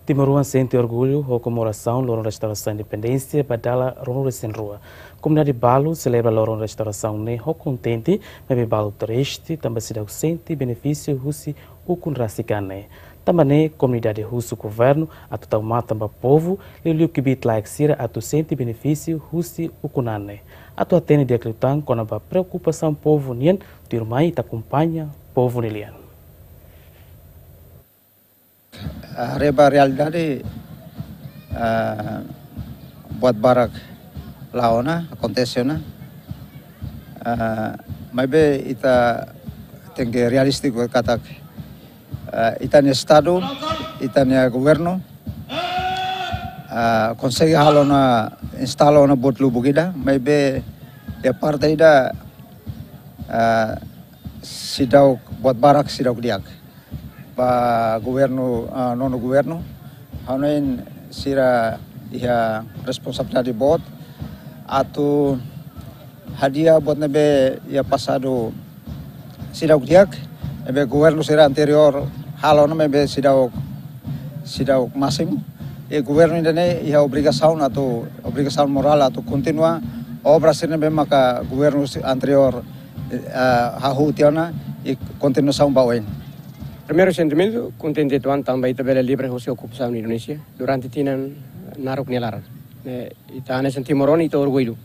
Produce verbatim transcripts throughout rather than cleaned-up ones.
Timoroan sente orgullu ho komemorasaun Loron Restaurasaun Independénsia ba dala ruanulu-resin-rua. Komunidade balu selebra Loron Restaurasaun ne'e ho kontente, maibé balu triste tanba seidauk sente benefísiu husi ukun rasik an ne'e. Tanba ne'e, komunidade husu governu atu tau matan ba povu, liuliu kbiit-laek sira atu sente benefísiu husi ukun an ne'e. Atu hatene di'ak liután kona-ba preokupasaun povu nian, tuirmai ita akompaña povu nia lian. Ah, haree ba realidade, ah, buat barak la'o ona, akontese ona. Ah, maibé ita tenke realístiku katak, ah, ita-nia estadu, ita-nia governu, ah, konsege halo ona, instala ona buat lubuk ida, maibé iha parte ida, ah, seidauk, buat barak seidauk di'ak. Ba governu, ah, nonu governu, hanoin sira iha responsabilidade boot atu hadi'a buat ne'ebé iha pasadu seidauk di'ak, ne'ebé governu sira anteriór halo ona maibé seidauk, seidauk másimu. I governu ida-ne'e iha obrigasaun atu, obrigasaun morál atu kontinua obra sira ne'ebé maka governu si-, anteriór, eh, hahú tiha ona i kontinuasaun ba oin. Primeiru sentimentu, kontente uitoan tanba ita bele livre husi okupasaun Indonézia durante tinan naruk nia laran. Ne'e, ita hanesan timoroan, ita orgullu.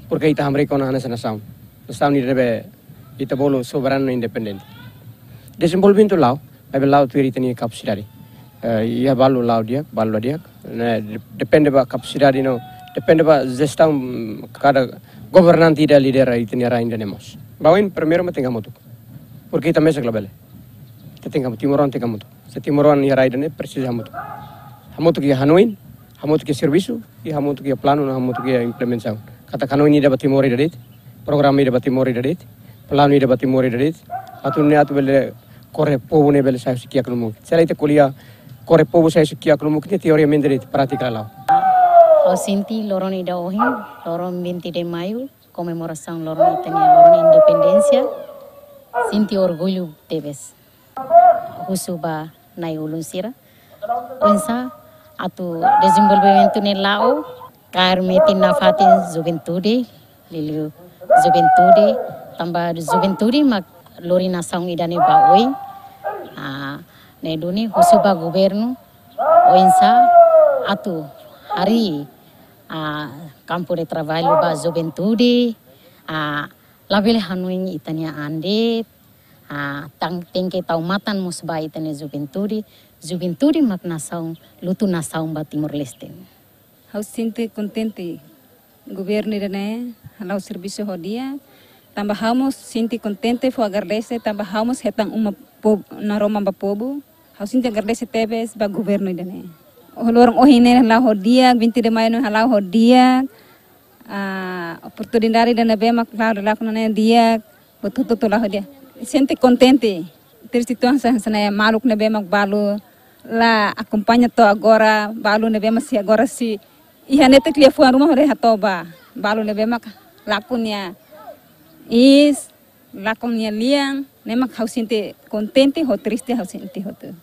Porke ita hamriik ona hanesan nasaun. Nasaun ida ne'ebé ita bolu soberanu no independente. Dezenvolvimentu la'o, maibé la'o tuir ita-nia kapasidade. Eh, iha balu la'o di'ak, balu la di'ak. Ne'e, de-, depende ba kapasidade no, depende ba jestaun, mm, kada governante ida lidera ita-nia rain ida-ne'e mós. Ba oin primeiru mak tenke hamutuk. Porke ita mesak labele. Ita tenke hamutuk, timoroan tenke hamutuk. Se timoroan iha rai ida-ne'e presiza hamutuk. Hamutuk iha hanoin, hamutuk iha servisu, i hamutuk iha planu, no hamutuk iha implementasaun. Katak hanoin ida ba Timor ida de'it, programa ida ba Timor ida de'it, planu ida ba Timor ida de'it, atu nune'e atu bele kore povu ne'e bele sai husi kiak no mukit. Se lae ita ko'alia kore povu sai husi kiak no mukit, teoriamente de'it, prátika la'o. Ha'u sente loron ida ohin, loron vinte de maio, komemorasaun loron ita-nia loron independénsia, sente orgullu tebes. Husu ba na'i-ulun sira oinsá atu dezenvolvimentu ne'e la'o, kaer metin nafatin juventude, liuliu juventude, tanba juventude mak lori nasaun ida-ne'e ba oin. Ah, ne'e duni husu ba governu oinsá atu harii, ah, kampu de traballu ba juventude, ah, labele hanoin ita-nia an de'it, ah, tan-, tenke tau matan mós ba ita-nia juventude, juventude mak nasaun, lutu nasaun ba Timor-Leste. Ha'u sente kontente, governu ida-ne'e hala'o servisu ho di'ak, tanba ha'u mós sente kontente fó agradese, tanba ha'u mós hetan uma po-, naroman ba povu. Ha'u sente agradese tebes ba governu ida-ne'e. Loron ohin ne'e hala'o ho di'ak, vinte de maio ne'e hala'o ho di'ak. Ah, oportunidade ida ne'ebé mak la'o, la'o ho ne'e di'ak, buat hotu-hotu la'o ho di'ak. Sente kontente. Triste uitoan hanesan, hanesan ne'e maluk ne'ebé mak balu la akompaña to'o agora, balu ne'ebé mak sei agora sei iha netik liafuan ruma hodi hato'o ba. Balu ne'ebé mak lakon nia iis, lakon nia lian, ne'e mak ha'u sente kontente ho triste ha'u sente hotu.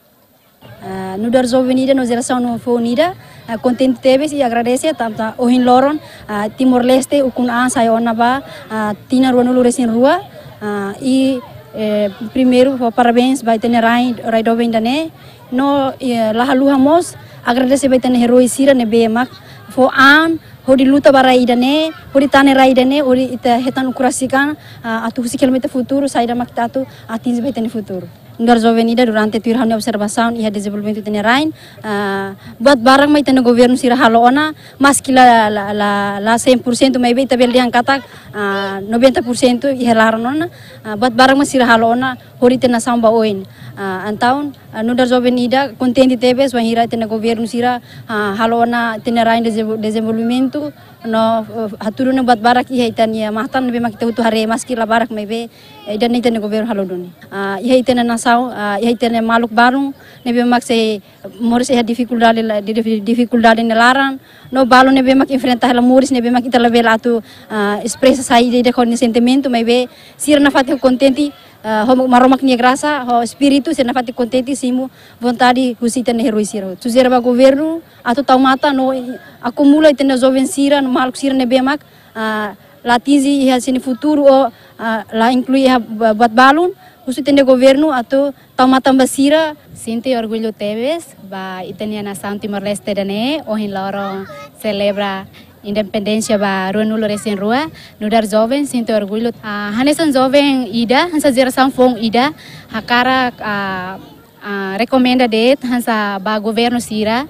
Ah, nu'udar joven ida no jerasaun foun ida, ah, kontente tebes i agradese tanba ohin loron, ah, Timor-Leste ukun an sai ona ba, ah, tinan ruanulu-resin-rua, ah, i, eh, primeiru fó parabéns ba ita-nia rai, rai doben ida-ne'e, no, eh, la haluha mós agradese ba ita-nia eroi sira ne'ebé mak fó an hodi luta ba rai ida-ne'e, hodi tane rai ida-ne'e, hodi ita hetan ukun rasik an, ah, atu husik hela mai ita futuru, saida mak ita atu atinje ba ita-nia futuru. Nu'udar joven ida durante tuir ha'u-nia observasaun iha dezenvolvimentu ita-nia rain, ah, buat barak mak ita-nia governu sira halo ona, maski la, la, la, la cem por cento, maibé ita bele dehan katak, ah, noventa por cento iha laran ona, ah, buat barak mak sira halo ona, hodi ita-nia nasaun ba oin. Ah, entaun, ah, nu'udar joven ida kontente tebes, wainhira ita-nia governu sira, ah, halo ona ita-nia rain dezenvol-, dezenvolvimentu, no, eh, hatudu ona buat barak iha ita-nia matan ne'ebé mak ita hotu haree maski la barak maibé, eh, ida-ne'e ita-nia governu halo duni. Ah, iha ita-nia nasaun, ah, iha ita-nia maluk balun ne'ebé mak sei moris iha difikuldade la, di, di, difikuldade nia laran, no balu ne'ebé mak enfrenta hela moris ne'ebé mak ita labele atu, ah, espresa saida ida ho nia sentimentu, maibé sira nafatin kontente, ah, ho Maromak nia grasa, ho espíritu, sei nafatin kontente simu vontade husi ita-nia eroi sira. Sujere ba governu atu tau matan no akumula ita-nia joven sira, maluk sira ne'ebé mak, ah, la atinje iha sira-nia futuru ou, ah, la inklui iha ba-, buat balun, husu ita-nia governu atu tau matan ba sira. Sente orgullu tebes ba ita-nia nasaun Timor-Leste ida-ne'e, ohin loron selebra independénsia ba ruanulu resin rua, nu'udar joven sente orgullu. Ah, hanesan joven ida, hanesan jerasaun foun ida, hakarak, ah, ah, rekomenda de'it hanesan ba governu sira,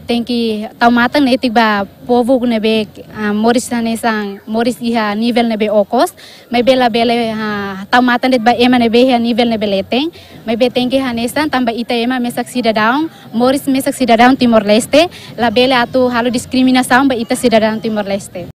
tenke tau matan netik ba povu ne'ebé, ah, moris hanesan, moris iha nivel ne'ebé okos, maibé labele, ah, tau matan de'it ba ema ne'ebé iha nivel ne'ebé leten, maibé tenke hanesan tanba ita ema mesak sidadaun, moris mesak sidadaun Timor-Leste, labele atu halo diskriminasaun ba ita sidadaun Timor-Leste.